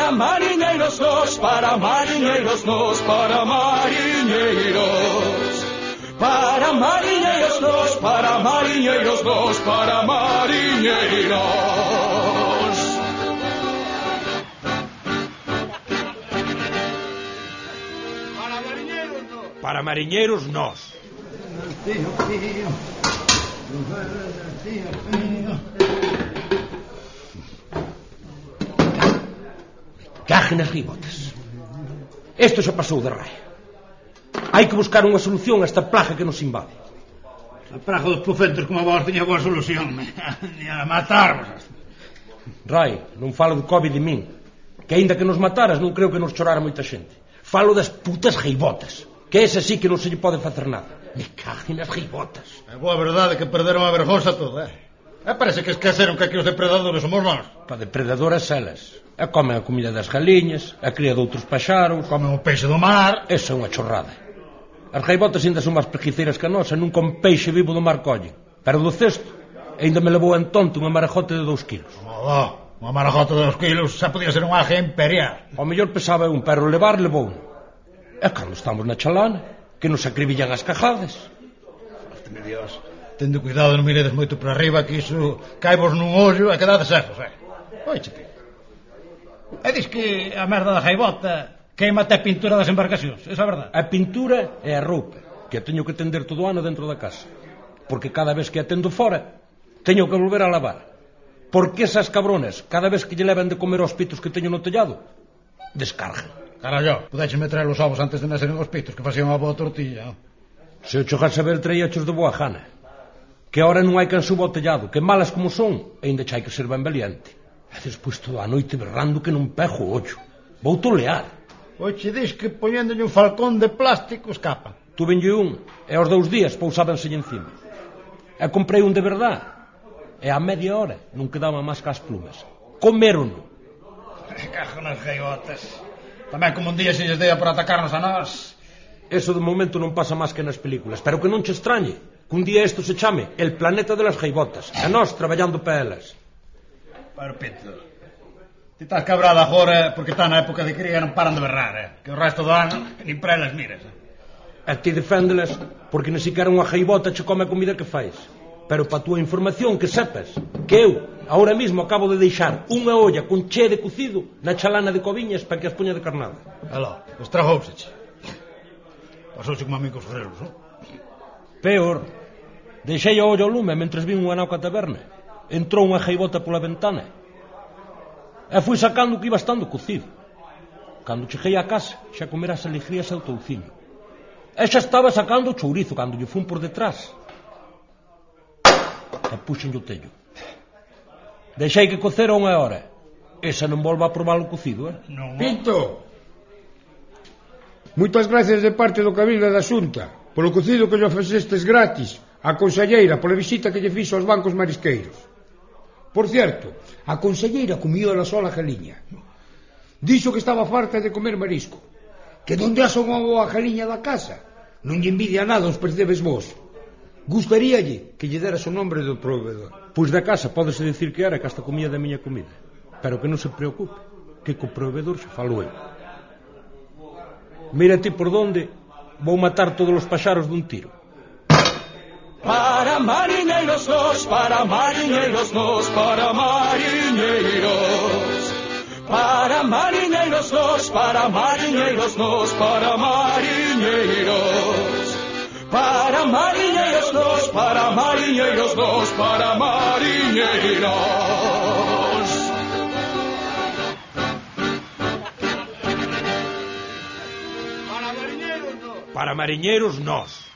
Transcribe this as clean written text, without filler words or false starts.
Para mariñeiros nós, para mariñeiros nós, para mariñeiros. Para mariñeiros nós, para mariñeiros nós, para mariñeiros. Para mariñeiros nós. Para mariñeiros nós. Caje nas ribotas. Isto xa pasou de raia. Hai que buscar unha solución a esta plaga que nos invade. A praga dos profetas como a vos tiña boa solución. Ni a matarvos. Rai, non falo do COVID de min, que aínda que nos mataras non creo que nos chorara moita xente. Falo das putas reibotas, que ese sí que non se lle pode facer nada. Me cague nas reibotas. É boa verdade que perderon a vergonza toda, parece que esqueceron que aquí os depredadores somos nós. Pa depredadoras elas. E comen a comida das galiñas, a cría de outros paxaros. Comen o peixe do mar. Esa é unha chorrada. As reibotas ainda son máis preguiceiras que a nosa, non con peixe vivo do mar collen. Pero do cesto, ainda me levou en tonto unha marajote de 2 kilos. Unha marajota de 2 kilos xa podía ser un aje imperial. Ao mellor pesaba un, pero levar levou. E cando estamos na chalana, que nos acribillan as cajadas. Hosteme Dios, tendo cuidado, non miredes moito para arriba, que iso caivos nun ollo e quedades secos, Oiche, tío. E dis que a merda da jaibota queima até a pintura das embarcacións, esa é a verdade? A pintura é a roupa, que a teño que tender todo o ano dentro da casa. Porque cada vez que a tendo fora, teño que volver a lavar. Porque esas cabronas, cada vez que lle levan de comer aos pitos que teño no tellado, descargan. Carallo, pudeches meter os ovos antes de naseren os pitos, que facían unha boa tortilla. Se o chegase a ver, traíachos de boa gana. Que ahora non hai can suba ao tellado, que malas como son, ainda chai que ser ben valiente. E despois toda a noite berrando que non pego o ollo. Vou tolear. Oxe, dis que poñéndolle un falcón de plástico escapan. Tuvenlle un, e aos 2 días pousábanselle encima. E comprei un de verdade. E a media hora non quedaba máis que as plumas. Comérono. Cajo nas gaivotas. Tamén como un día se lles dea por atacarnos a nós. Eso de momento non pasa máis que nas películas. Pero que non che extrañe que un día isto se chame El planeta de las gaivotas. E nós traballando para elas. Pero Pito, ti estás cabrada agora porque está na época de cría e non paran de berrar, que o resto do ano nin para elas miras. E ti deféndelas porque nem siquiera unha gaivota che come a comida que fais. Pero para a túa información que sepas que eu ahora mismo acabo de deixar unha olla con che de cocido na chalana de Coviñas para que as poña de carnada. Aló, estragouse. Pasouse como a mí cos frelos, non? Peor, deixei a olla ao lume mentres vin unha nauca taberna. Entrou unha gaivota pola ventana e fui sacando o que iba estando cocido. Cando cheguei a casa xa comera as alegrías e o touciño. E xa estaba sacando o chourizo cando lle fun por detrás e puxenlle o tello. Deixei que cocera 1 hora. Esa non volva a probar o cocido, Non. Pinto! Moitas gracias de parte do Cabildo da Xunta polo cocido que lle ofrecestes gratis á conselleira pola visita que lle fixo aos bancos marisqueiros. Por certo, a conselleira comió ela sola a galiña. Dixo que estaba farta de comer marisco, que donde asa unha boa galiña da casa non lle envidia nada aos percebes vos. Gustaríalle que lle deras o nombre do proveedor. Pois da casa pódese dicir que era que hasta comía da miña comida. Pero que non se preocupe, que co proveedor xa falo eu. Mira ti por donde vou matar todos os paxaros dun tiro. Para mariñeiros nós, para mariñeiros nós, para mariñeiros. Para mariñeiros nós, para mariñeiros nós, para mariñeiros. Para mariñeiros nós, para mariñeiros nós, para mariñeiros. Para mariñeiros nós.